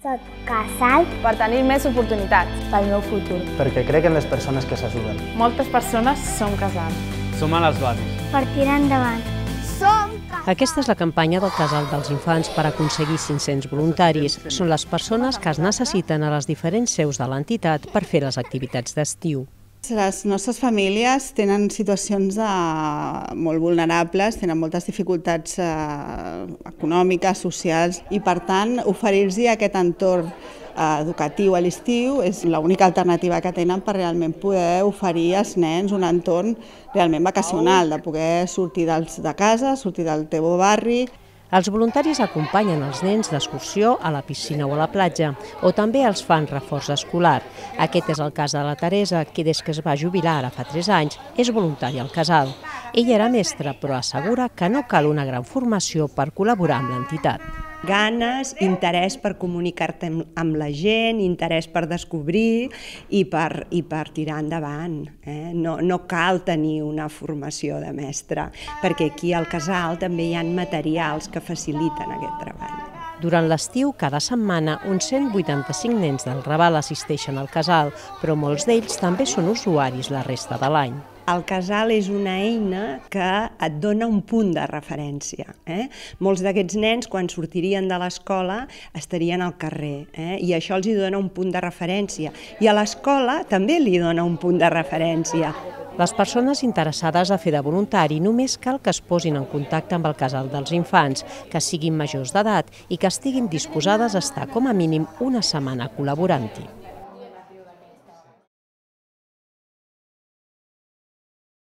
Soc casal per tenir més oportunitats. pel meu futur. Perquè crec en les persones que s'ajuden. Moltes persones som casals. Som a les bases. Per tirar endavant. Aquesta és la campanya del Casal dels Infants per aconseguir 500 voluntaris. Són les persones que es necessiten a les diferents seus de l'entitat per fer les activitats d'estiu. Les nostres famílies tenen situacions molt vulnerables, tenen moltes dificultats econòmiques, socials, i per tant oferir-los aquest entorn educatiu a l'estiu és l'única alternativa que tenen per realment poder oferir als nens un entorn realment vacacional, de poder sortir de casa, sortir del teu barri. Els voluntaris acompanyen els nens d'excursió a la piscina o a la platja, o també els fan reforç escolar. Aquest és el cas de la Teresa, que des que es va jubilar ara fa 3 anys, és voluntària al casal. Ella era mestra, però assegura que no cal una gran formació per col·laborar amb l'entitat. Ganes, interès per comunicar-te amb la gent, interès per descobrir i per tirar endavant. No cal tenir una formació de mestre, perquè aquí al casal també hi ha materials que faciliten aquest treball. Durant l'estiu, cada setmana, uns 185 nens del Raval assisteixen al casal, però molts d'ells també són usuaris la resta de l'any. El casal és una eina que et dona un punt de referència. Molts d'aquests nens, quan sortirien de l'escola, estarien al carrer, i això els dona un punt de referència. I a l'escola també li dona un punt de referència. Les persones interessades a fer de voluntari només cal que es posin en contacte amb el Casal dels Infants, que siguin majors d'edat i que estiguin disposades a estar com a mínim una setmana col·laborant-hi.